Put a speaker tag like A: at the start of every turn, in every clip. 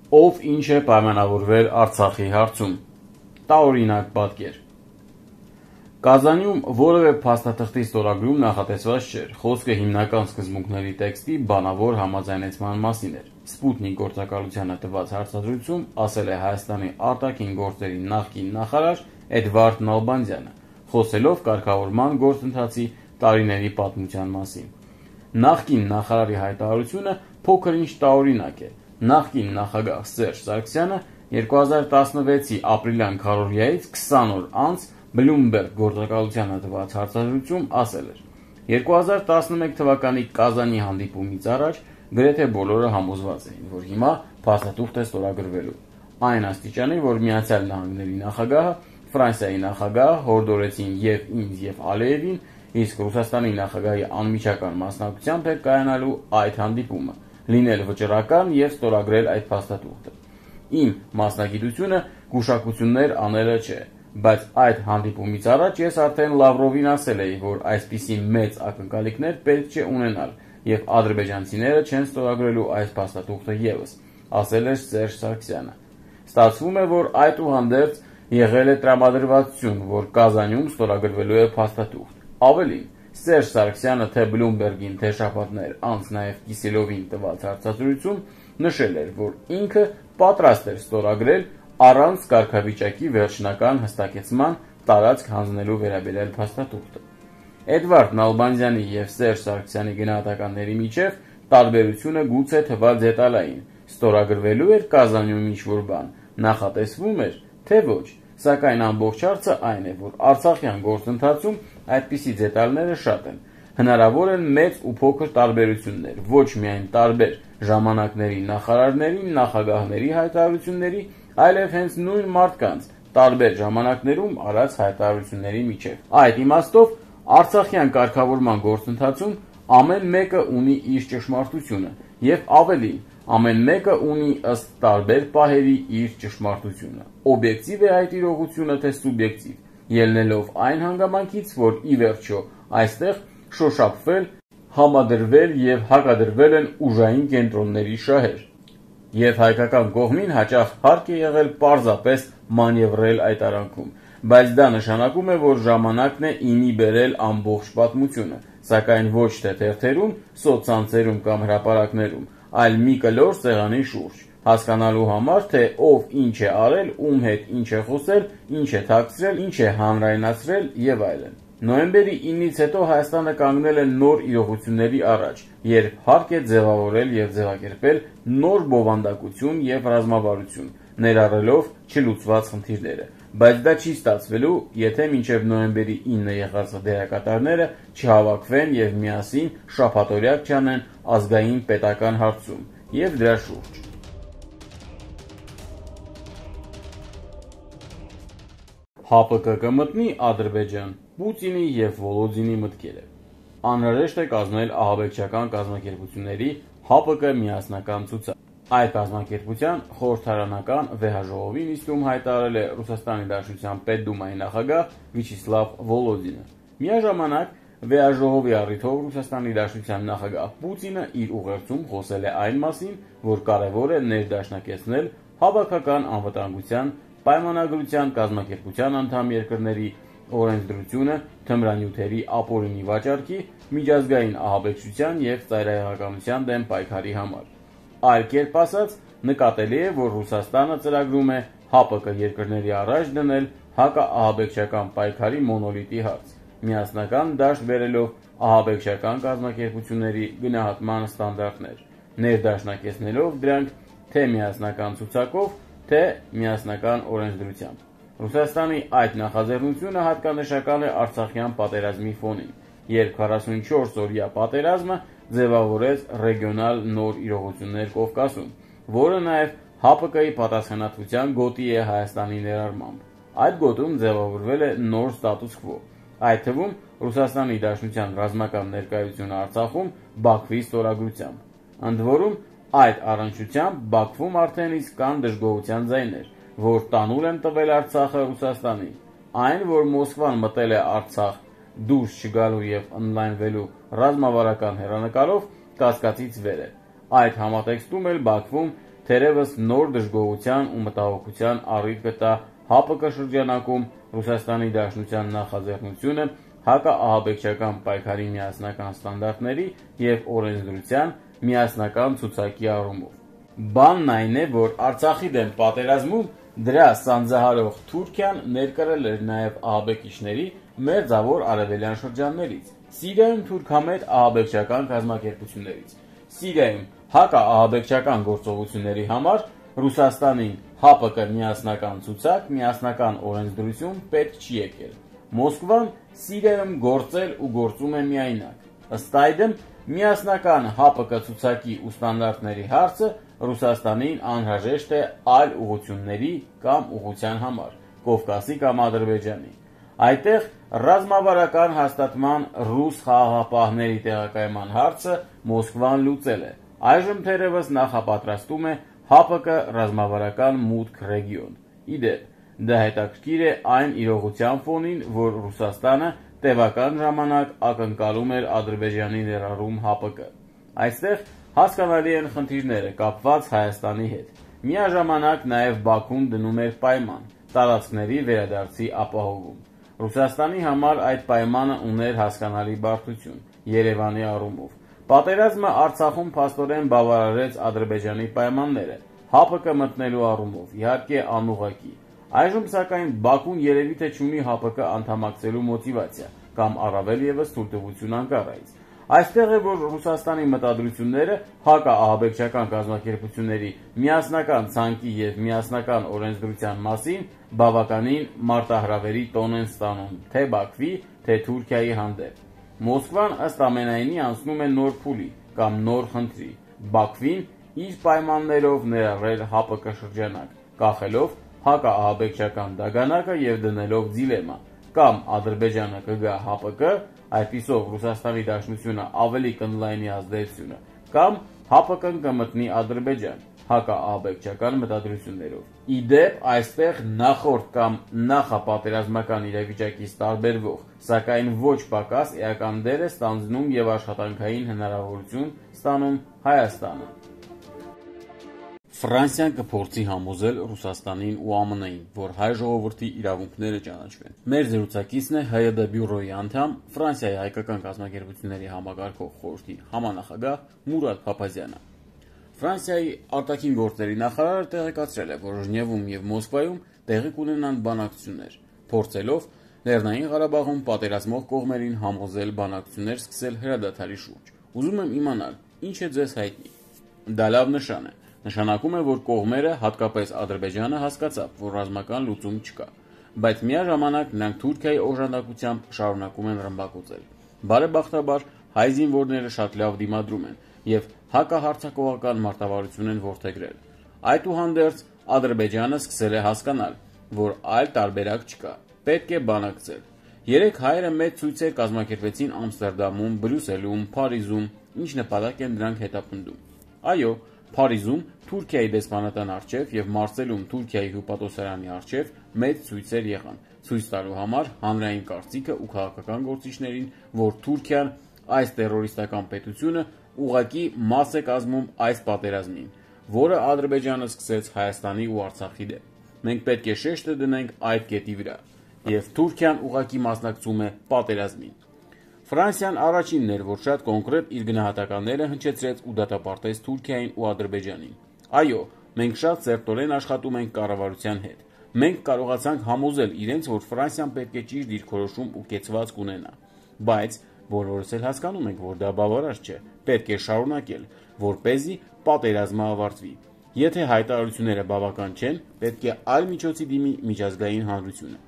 A: Ով ինչ է պայմանավորվել Արցախի հարցում։ Տարօրինակ պատկեր։ Կազանում որևէ փաստաթղթի ստորագրում նախատեսված չէր, խոսքը հիմնական սկզբունքների տեքստի բանավոր համաձայնեցման մասին էր։ Սպուտնիկ գործակալությանը տված հարցազրույցում ասել է Հայաստանի արտաքին գործերի նախկին նախարար Էդվարդ Նալբանդյանը, խոսելով կարգավորման գործընթացի տարիների պատմության մասին։ Նախկին նախարարի հայտարարությունը փոքր-ինչ տարօրինակ է։ Նախկին նախագահ Սերժ Սարգսյանը 2016-ի ապրիլյան քարոզիայից 20 օր անց Բլումբերգ գործակալությանը տված հարցազրույցում ասել էր. 2011 թվականի Կազանի հանդիպումից առաջ գրեթե բոլորը համոզված էին, որ հիմա փաստաթուղթ է ստորագրվելու։ Այն աստիճանի, որ Միացյալ Նահանգների նախագահը, Ֆրանսիայի նախագահը հորդորեցին եւ ինձ եւ Ալիևին, իսկ Ռուսաստանի նախագահի անմիջական մասնակցությամբ է կայանալու այդ հանդիպումը, լինել վճռական եւ ստորագրել այդ փաստաթուղթը։ Իմ մասնագիտությունը գուշակություններ անելը չէ, բայց այդ հանդիպումից առաջ ես արդեն Լավրովին ասել էի, որ այսպիսի մեծ ակնկալիքներ պետք չէ ունենալ եւ ադրբեջանցիները չեն ստորագրելու այս փաստաթուղթը եւս, ասել էր Սերժ Սարգսյանը։ Ստացվում է, որ այդուհանդերձ եղել է տրամադրվածություն, որ Կազանում ստորագրվելու է փաստաթուղթ։ Ավելին, Սերժ Սարգսյանը թե Բլումբերգին, թե շաբաթներ անց նաև Կիսելովին տված հարցազրույցում նշել էր, որ ինքը պատրաստ էր ստորագրել առանց կարգավիճակի վերջնական հստակեցման տարածք հանձնելու վերաբերյալ փաստաթուղթը։ Էդվարդ Նալբանդյանի եւ Սերժ Սարգսյանի գնահատականների միջև տարբերությունը գուցե թվալ դետալային։ Ստորագրվելու էր Կազանում ինչ-որ բան, նախատեսվում էր, թե ոչ, սակայն ամբողջ հարցը այն է, որ Արցախյան գործընթացում այդպիսի դետալները շատ են։ Հնարավոր են մեծ ու փոքր տարբերություններ, ոչ միայն տարբեր ժամանակների նախարարների, նախագահների հայտարարությունների, այլև հենց նույն մարդկանց տարբեր ժամանակներում արած հայտարարությունների միջև։ Այդ իմաստով Արցախյան կարգավորման գործընթացում ամեն մեկը ունի իր ճշմարտությունը եւ ավելին, ամեն մեկը ունի ըստ տարբեր պահերի իր ճշմարտությունը։ Օբյեկտիվ է այդ իրողությունը, թե սուբյեկտիվ, ելնելով այն հանգամանքից, որ ի վերջո այստեղ շոշափվել, համադրվել եւ հակադրվել են ուժային կենտրոնների շահեր։ Եվ հայկական կողմին հաճախ հարկ է եղել պարզապես մանևրել այդ արանքում, բայց դա նշանակում է, որ ժամանակն է ինի բերել ամբողջ պատմությունը, սակայն ոչ թե թերթերում, սոցցանցերում կամ հրապարակներում, այլ մի կլոր սեղանի շուրջ, հասկանալու համար, թե ով ինչ է արել, ում հետ ինչ է խոսել, ինչ է թաքցրել, ինչ է հանրայնացրել եւ այլն։ Նոյեմբերի 9-ից հետո Հայաստանը կանգնել է նոր իրողությունների առաջ, երբ հարկ է ձևավորել եւ ձևակերպել նոր բովանդակություն եւ ռազմավարություն, ներառելով չլուծված խնդիրները, բայց դա չի ստացվելու, եթե մինչև նոյեմբերի 9-ը եղած դերակատարները չհավաքվեն եւ միասին շաբաթօրյակ չանեն ազգային պետական հարցում եւ դրա շուրջ։ ՀԱՊԿ կմտնի Ադրբեջան, Պուտինի եւ Վոլոդինի մտքերը։ Անհրաժեշտ է կազմել ահաբեկչական կազմակերպությունների ՀԱՊԿ միասնական ցուցակ։ Այդ կազմակերպության խորհրդարանական վեհաժողովի նիստում հայտարարել է Ռուսաստանի Դաշնության Պետդումայի նախագահ Վիաչեսլավ Վոլոդինը։ Միաժամանակ վեհաժողովի առիթով Ռուսաստանի Դաշնության նախագահ Պուտինը իր ուղերձում խոսել է այն մասին, որ կարևոր է ներդաշնակեցնել հավաքական անվտանգության պայմանագրության կազմակերպության անդամ երկրների օրենսդրությունը թմրանյութերի ապօրինի վաճառքի, միջազգային ահաբեկչության եւ ծայրահեղականության դեմ պայքարի համար։ Այլ կերպ ասած, նկատելի է, որ Ռուսաստանը ծրագրում է ՀԱՊԿ երկրների առաջ դնել հակաահաբեկչական պայքարի մոնոլիտի հարց, միասնական դաշտ բերելով ահաբեկչական կազմակերպությունների գնահատման ստանդարտներ, ներդաշնակեցնելով դրանք թե միասնական ցուցակով, թե միասնական օրենսդրությամբ։ Ռուսաստանի այդ նախաձեռնությունը հատկանշական է Արցախյան պատերազմի ֆոնին, երբ 44-օրյա պատերազմը ձևավորեց ռեգիոնալ նոր իրողություններ Կովկասում, որը նաև ՀԱՊԿ-ի պատասխանատվության գոտի է Հայաստանի ներառմամբ։ Այդ գոտում ձևավորվել է նոր ստատուս քվո, այդ թվում Ռուսաստանի Դաշնության ռազմական ներկայությունը Արցախում Բաքվի ստորագրությամբ։ Ընդ որում, այդ առնչությամբ Բաքվում արդեն իսկ կան դժգոհության ձայներ, որ տանուլ են տվել Արցախը Ռուսաստանին։ Այն, որ Մոսկվան մտել է Արցախ դուրս չգալու եւ ընդլայնվելու ռազմավարական հեռանկարով, կասկածից վեր է։ Այդ համատեքստում էլ Բաքվում թերևս նոր դժգոհության ու մտահոգության առիթ կտա ՀԱՊԿ շրջանակում Ռուսաստանի Դաշնության նախաձեռնությունը հակաահաբեկչական պայքարի միասնական ստանդարտների և օրենսդրության միասնական ցուցակի առումով։ Բանն այն է, որ Արցախի դեմ պատերազմում դրա սանձահարող Թուրքիան ներկրել էր նաև ահաբեկիչների մերձավոր արևելյան շրջաններից, Սիրիայում թուրքամետ ահաբեկչական կազմակերպություններից։ Սիրիայում հակաահաբեկչական գործողությունների համար Ռուսաստանին ՀԱՊԿ միասնական ցուցակ, միասնական օրենսդրություն պետք չի եկել։ Մոսկվան Սիրիայում գործել ու գործում է միայնակ։ Ըստ այդմ, միասնական ՀԱՊԿ ցուցակի ու ստանդարտների հարցը Ռուսաստանին անհրաժեշտ է այլ ուղղությունների կամ ուղղության համար, Կովկասի կամ Ադրբեջանի։ Այդտեղ ռազմավարական հաստատման ռուս խաղաղապահների տեղակայման հարցը Մոսկվան լուծել է։ Այժմ թերևս նախապատրաստում է ՀԱՊԿ ռազմավարական մուտք ռեգիոն։ Ի դեպ, դա հետաքրքիր է այն իրողության ֆոնին, որ Ռուսաստանը տևական ժամանակ ակնկալում էր Ադրբեջանի ներառում ՀԱՊԿ։ Այստեղ հասկանալի են խնդիրները կապված Հայաստանի հետ։ Միաժամանակ նաև Բաքուն դնում էր պայման՝ տարածքների վերադարձի ապահովում։ Ռուսաստանի համար այդ պայմանը ուներ հասկանալի բարդություն Երևանի առումով։ Պատերազմը Արցախում փաստորեն բավարարեց Ադրբեջանի պայմանները ՀԱՊԿ մտնելու առումով, իհարկե անուղղակի։ Այժմ սակայն Բաքուն երևի թե չունի ՀԱՊԿ անդամակցելու մոտիվացիա կամ առավել ևս թույլտվություն Անկարայից։ Այստեղ է, որ Ռուսաստանի մտադրությունները հակաահաբեկչական կազմակերպությունների միասնական ցանկի և միասնական օրենսդրության մասին բավականին մարտահրավերի տոն են ստանում թե Բաքվի, թե Թուրքիայի հանդեպ։ Մոսկվան ըստ ամենայնի անցնում է նոր փուլի կամ նոր խնդրի՝ Բաքվին իր պայմաններով ներառել ՀԱՊԿ շրջանակ, կախելով հակաահաբեկչական դագանակը և դնելով դիլեմա՝ կամ Ադրբեջանը կգա ՀԱՊԿ, այդպիսով Ռուսաստանի Դաշնությունը ավելի կընդլայնի ազդեցությունը, կամ ՀԱՊԿ-ն կմտնի Ադրբեջան հակաահաբեկչական մտադրություններով։ Ի դեպ, այստեղ նախորդ կամ նախապատերազմական իրավիճակից տարբերվող, սակայն ոչ պակաս էական դեր է ստանձնում և աշխատանքային հնարավորություն ստանում Հայաստանը։ Ֆրանսիան կփորձի համոզել Ռուսաստանին ու ԱՄՆ-ին, որ հայ ժողովրդի իրավունքները ճանաչվեն։ Մեր զրուցակիցն է ՀՅԴ բյուրոյի անդամ, Ֆրանսիայի հայկական կազմակերպությունների համակարգող խորհրդի համանախագահ Մուրադ Փափազյանը։ Ֆրանսիայի արտաքին գործերի նախարարը տեղեկացրել է, որ Ժնևում և Մոսկվայում տեղի կունենան բանակցություններ, փորձելով Լեռնային Ղարաբաղում պատերազմող կողմերին համոզել բանակցություններ սկսել հրադադարի շուրջ։ Ուզում եմ իմանալ, ինչ է ձեզ հայտնի։ Դա լավ նշան է։ Նշանակում է, որ կողմերը, հատկապես Ադրբեջանը, հասկացավ, որ ռազմական լուծում չկա, բայց միաժամանակ նրանք Թուրքիայի օժանդակությամբ շարունակում են ռմբակոծել։ Բարեբախտաբար, հայ զինվորները շատ լավ դիմադրում են և հակահարձակողական մարտավարություն են որդեգրել։ Այդուհանդերձ, Ադրբեջանը սկսել է հասկանալ, որ այլ տարբերակ չկա, պետք է բանակցել։ Երեկ հայերը մեծ ցույցեր կազմակերպեցին Ամստերդամում, Բրյուսելում, Փարիզում, ինչ նպատակ են դրանք հետապնդում։ Այո, Փարիզում Թուրքիայի դեսպանատան առջև և Մարսելում Թուրքիայի հյուպատոսարանի առջև մեծ ցույցեր եղան, ցույց տալու համար հանրային կարծիքը ու քաղաքական գործիչներին, որ Թուրքիան, այս տերորիստական պետությունը, ուղղակի մաս է կազմում այս պատերազմին, որը Ադրբեջանը սկսեց Հայաստանի ու Արցախի դեմ։ Մենք պետք է շեշտը դնենք այդ կետի վրա, և Թուրքիան ուղղակի մասնակցում է պատերազմին։ Ֆրանսիան առաջինն էր, որ շատ կոնկրետ իր գնահատականները հնչեցրեց ու դատապարտեց Թուրքիային ու Ադրբեջանին։ Այո, մենք շատ սերտորեն աշխատում ենք կառավարության հետ։ Մենք կարողացանք համոզել իրենց, որ Ֆրանսիան պետք է ճիշտ դիրքորոշում ու կեցվածք ունենա։ Բայց բոլորս էլ հասկանում ենք, որ դա բավարար չէ։ Պետք է շարունակել, որպեսզի պատերազմը ավարտվի։ Եթե հայտարարությունները բավական չեն, պետք է այլ միջոցի դիմի միջազգային հանրությունը։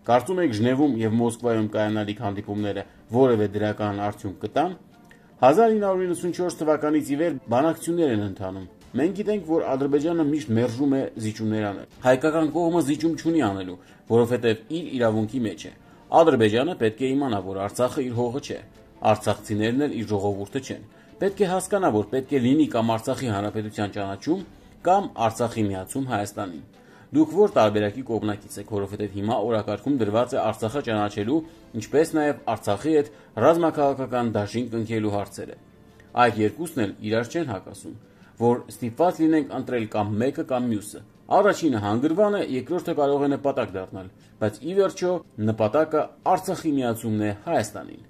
A: Կարծում եք Ժնևում և Մոսկվայում կայանալիք հանդիպումները որևէ դրական արդյունք կտան։ 1994 թվականից ի վեր բանակցություններ են ընթանում։ Մենք գիտենք, որ Ադրբեջանը միշտ մերժում է զիջումներ անել։ Հայկական կողմը զիջում չունի անելու, որովհետև իր իրավունքի մեջ է։ Ադրբեջանը պետք է իմանա, որ Արցախը իր հողը չէ, արցախցիներն էլ իր ժողովուրդը չեն։ Պետք է հասկանա, որ պետք է լինի կամ Արցախի հանրապետության ճանաչում, կամ Արցախի միացում Հայաստանին։ Դուք որ տարբերակի կողմնակից եք, որովհետև հիմա օրակարգում դրված է Արցախը ճանաչելու, ինչպես նաև Արցախի հետ ռազմաքաղաքական դաշինք կնքելու հարցերը։ Այդ երկուսն էլ իրար չեն հակասում։ որ ստիպված լինենք ընտրել կամ մեկը կամ մյուսը։ Առաջինը հանգրվան է, երկրորդը կարող է նպատակ դառնալ, բայց ի վերջո նպատակը Արցախի միացումն է Հայաստանին։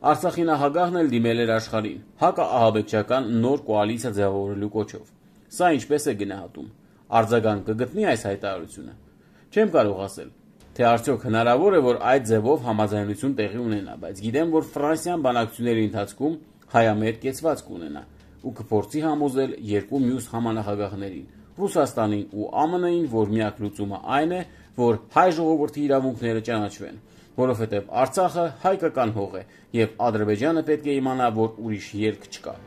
A: Արցախի նախագահն էլ դիմել էր աշխարհին հակաահաբեկչական նոր կոալիցիա ձևավորելու կոչով։ Սա ինչպես է գնահատում։ Արձագանք կգտնի այս հայտարարությունը։ Չեմ կարող ասել, թե արդյոք հնարավոր է, որ այդ ձևով համաձայնություն տեղի ունենա, բայց գիտեմ, որ Ֆրանսիան բանակցությունների ընթացքում հայամետ կեցված կունենա ու կփորձի համոզել երկու մյուս համանախագահներին՝ Ռուսաստանին ու ԱՄՆ-ին, որ միակ լուծումը այն է, որ հայ ժողովրդի իրավունքները ճանաչվեն, որովհետև Արցախը հայկական հող է, եւ Ադրբեջանը պետք է իմանա, որ ուրիշ ելք չկա։